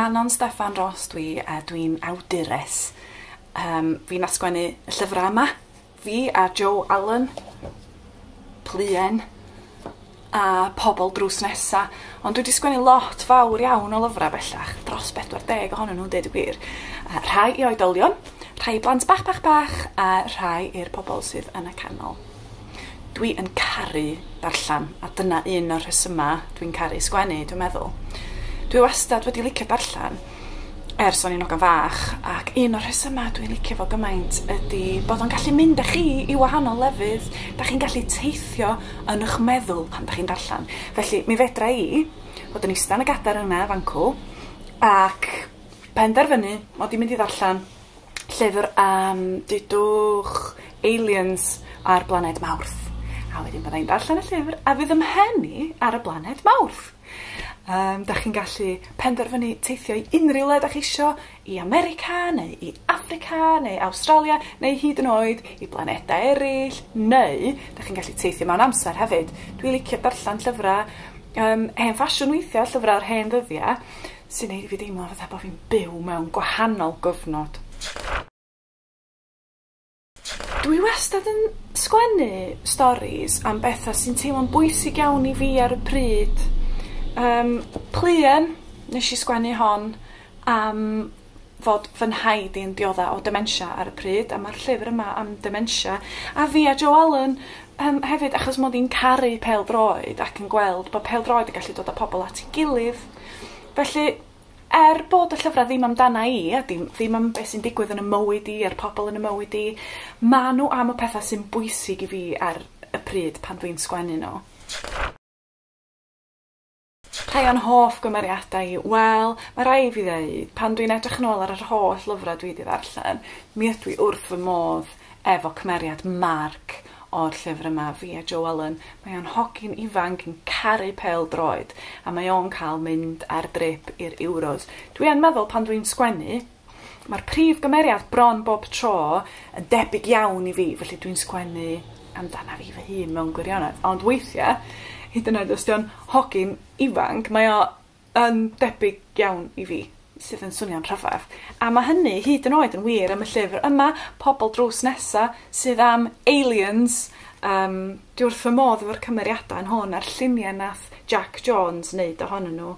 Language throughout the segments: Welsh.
Manon Steffan Ros dwi a dwi'n awdures. Fi nath sgwennu y llyfrau yma. Fi a Joe Allen, Pluen, a Pobol Drws Nesa. Ond dwi 'di sgwennu lot fawr iawn o lyfrau bellach, dros 40 ohonyn nhw'n deud y gwir. Rhai i oedolion, rhai i blant bach bach bach, a rhai i'r pobol sydd yn y canol. Dwi yn caru darllen, a dyna un o'r rhesymau dwi'n caru sgwennu, dwi'n meddwl. Dwi wastad wedi licio darllen ers o'n i'n ogan fach, ac un o'r rhesymau dwi'n licio fo gymaint ydy bod o'n gallu mynd â chi i wahanol lefydd. Da chi'n gallu teithio yn eich meddwl pan da chi'n darllen. Felly, mi fedra i fod yn ista yn y gadair yna fancw ac penderfynu mod i'n mynd i ddarllen llyfr am, dudwch, aliens ar blaned Mawrth. A wedyn bydda i'n darllen y llyfr a fydd 'y mhen i ar y blaned Mawrth. Da chi'n gallu penderfynu teithio i unrhyw le da chi isio, i America neu i Affrica neu Awstralia neu hyd yn oed i blanedau eraill, neu da chi'n gallu teithio mewn amser hefyd. Dwi'n licio darllen llyfrau hen ffasiwn weithiau, llyfrau o'r hen ddyddiau, sy'n neud i fi deimlo fatha bod fi'n byw mewn gwahanol gyfnod. Dwi wastad yn sgwennu storis am bethau sy'n teimlo'n bwysig iawn i fi ar y pryd. Pluen, nes i sgwennu hon am fod fy nhaid i'n diodda o dementia ar y pryd, a ma'r llyfr yma am dementia. A fi a Joe Allen hefyd, achos mod i'n caru pêl-droed ac yn gweld bod pêl-droed yn gallu dod â pobl at ei gilydd. Felly, er bod y llyfrau ddim amdana i, a ddim am beth sy'n digwydd yn y mywyd i a'r pobl yn y mywyd i, ma' nhw am y pethau sy'n bwysig i fi ar y pryd pan dwi'n sgwennu nhw. Rhai o'n hoff gymeriadau i, wel, mae rai fi ddeud, pan dwi'n edrych yn ôl ar yr holl lyfrau dwi wedi ddarllen, mi ydw i wrth fy modd efo cymeriad Mark o'r llyfr yma, fi a Joe Allen. Mae o'n hogyn ifanc yn caru pêl-droed, a mae o'n cael mynd ar drip i'r Euros. Dwi yn meddwl pan dwi'n sgwennu, mae'r prif gymeriad bron bob tro yn debyg iawn i fi, felly dwi'n sgwennu amdana fi fy hun mewn gwirionedd. Ond weithiau, hyd yn oed os 'di o'n hogyn ifanc, mae o yn debyg iawn i fi, sydd yn swnio'n rhyfedd. A mae hynny hyd yn oed yn wir am y llyfr yma, Pobol Drws Nesa, sydd am aliens. Dwi wrth fy modd efo'r cymeriadau yn hwn a'r lluniau nath Jack Jones wneud ohonyn nhw.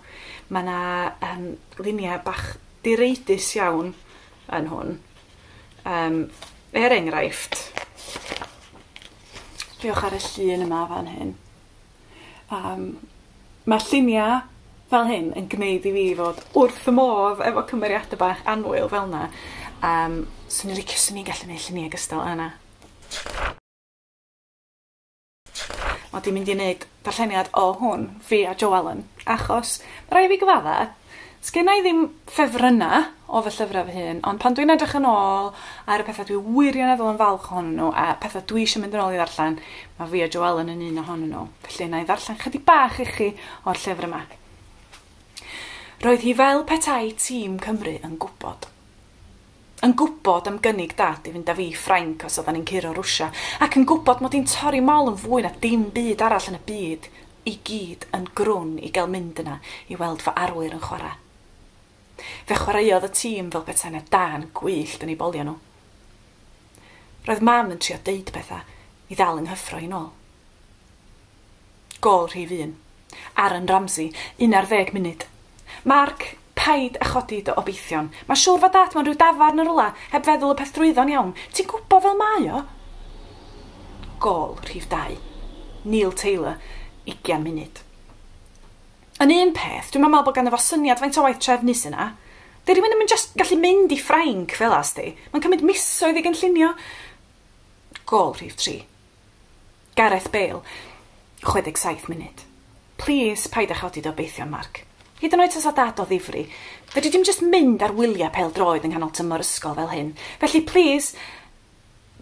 Mae yna luniau bach direidus iawn yn hwn. Er enghraifft, diolch ar y llun yma fan hyn. Mae lluniau fel hyn yn gwneud i fi fod wrth fy modd efo cymeriadau bach annwyl fel 'na. Swn i'n licio, swn i'n gallu gwneud lluniau gystal â 'na. Mod i'n mynd i wneud darlleniad o hwn, fi a Joe Allen, achos ma' raid fi gyfadda, sgenna i ddim ffefrynna o fy llyfrau fy hun, ond pan dwi'n edrych yn ôl ar y pethau dwi wirioneddol yn falch ohonyn nhw a pethau dwi eisiau mynd yn ôl i ddarllen, mae fi a Joe Allen yn un ohonyn nhw. Felly na i ddarllen chydig bach i chi o'r llyfr yma. Roedd hi fel petai tîm Cymru yn gwybod. Yn gwybod am gynnig Dad i fynd â fi i Ffrainc os oeddan ni'n curo Rwsia, ac yn gwybod mod i'n torri mol yn fwy na dim byd arall yn y byd i gyd yn grwn i gael mynd yna i weld fy arwyr yn chwarae. Fe chwaraeodd y tîm fel petai 'na dân gwyllt yn eu boliau nhw. Roedd Mam yn trio deud pethau i ddal yng nghyffro i'n ôl. Gôl rhif 1. Aaron Ramsey, 11 munud. Mark, paid â chodi dy obeithion. Mae'n siŵr fod Dad mewn rhyw dafarn yn rwla, heb feddwl y peth drwyddo'n iawn. Ti'n gwybod fel mae o? Gôl rhif 2. Neil Taylor, 20 munud. Yn un peth, dwi'm yn meddwl bod ganddo fo syniad faint o waith trefnu sy 'na. 'Di rhywun ddim yn jyst gallu mynd i Ffrainc fel 'a, sdi. Mae'n cymryd misoedd i gynllunio. Gôl rhif 3. Gareth Bale, 67 munud. Plîs, paid â chodi dy obeithion, Mark. Hyd yn oed tasa Dad o ddifri, fedri di'm jyst mynd ar wyliau pêl-droed yng nghanol tymor ysgol fel hyn. Felly, plîs!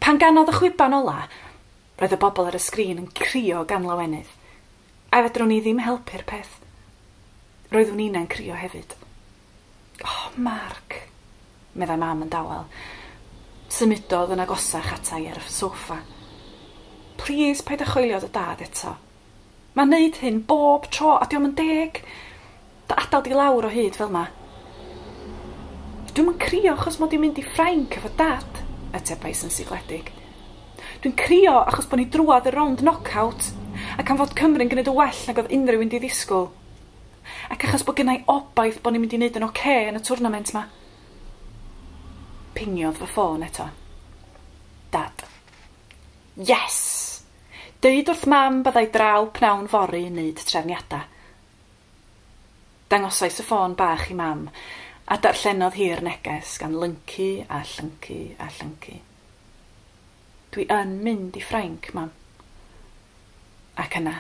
Pan ganodd y chwiban ola, roedd y bobl ar y sgrin yn crio gan lawenydd. A fedrwn i ddim helpu'r peth. Roeddwn innau'n crio hefyd. O, Mark, meddai Mam yn dawel. Symudodd yn agosach ata i ar y soffa. Plîs, paid â choelio dy dad eto. Mae'n neud hyn bob tro a dio'm yn deg. Dy adael di lawr o hyd fel 'ma. Dwi'm yn crio achos mod i'n mynd i Ffrainc efo Dad, atebais yn sigledig. Dwi'n crio achos bod ni drwadd y rownd knockout, ac am fod Cymru'n gwneud yn well nag oedd unrhyw un 'di ddisgwyl. Ac achos bod gennai obaith bod ni'n mynd i wneud yn ocê yn y twrnament 'ma. Pingiodd fy ffôn eto. Dad. Yes! Deud wrth Mam byddai draw pnawn fory i wneud trefniadau. Dangosais y ffôn bach i Mam, a darllenodd hi'r neges gan lyncu a llyncu a llyncu. Dwi yn mynd i Ffrainc, Mam. Ac yna,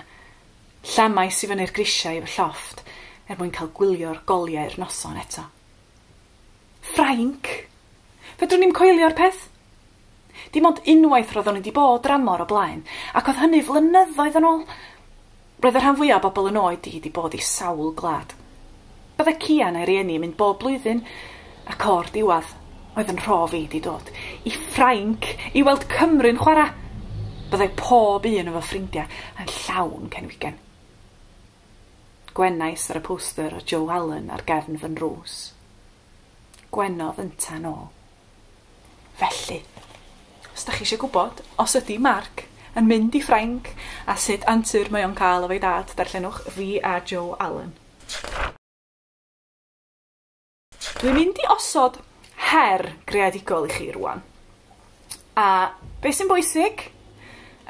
llamais i fyny'r grisiau i fy llofft er mwyn cael gwylio'r goliau'r noson eto. Ffrainc? Fedrwn ni'm coelio'r peth? Dim ond unwaith roeddwn i 'di bod dramor o blaen, ac oedd hynny flynyddoedd yn ôl. Roedd y rhan fwyaf o bobl yn oed i 'di bod i sawl gwlad. Bydde Cian a'i rieni yn mynd bob blwyddyn, ac o'r diwedd, oedd yn rhof i 'di dod i Ffrainc i weld Cymru'n chwarae. Byddai pob un o fy ffrindiau yn llawn cenfigen. Gwenais ar y poster o Joe Allen ar gefn fy nrws. Gwenodd ynta'n ôl. Felly, os da chi eisiau gwybod os ydy Mark yn mynd i Ffrainc a sut antur mae o'n cael efo'i dad, darllenwch Fi a Joe Allen. Dwi'n mynd i osod her greadigol i chi rwan. A beth sy'n bwysig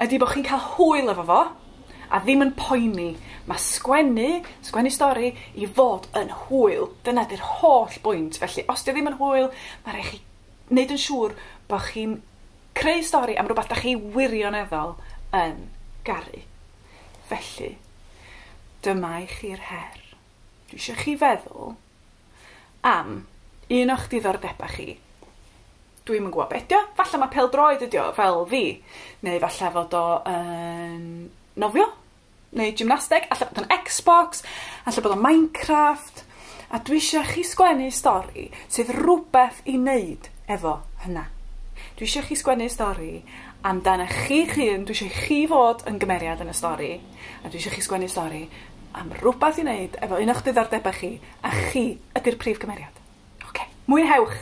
ydy bod chi'n cael hwyl efo fo a ddim yn poeni. Mae sgwennu, sgwennu stori, i fod yn hwyl. Dyna 'di'r holl bwynt. Felly, os 'di o ddim yn hwyl, mae rhaid chi wneud yn siŵr bod chi'n creu stori am rhywbeth da chi wirioneddol yn garu. Felly, dyma i chi'r her. Dwi eisiau chi feddwl am un o'ch diddordebau chi. Dwi'm yn gwybod be' 'di o. Falle mae pêl-droed ydi o, fel fi. Neu falle fod o yn nofio, neu gymnasteg, alla bod o'n Xbox, alla bod o'n Minecraft. A dwi eisiau chi sgwennu stori sydd rhywbeth i wneud efo hynna. Dwi eisiau chi sgwennu stori amdano chi'ch hun, dwi eisiau chi fod yn gymeriad yn y stori, a dwi eisiau chi sgwennu stori am rhywbeth i wneud efo un o'ch diddordebau chi, a chi ydy'r prif gymeriad. Oce, mwynhewch!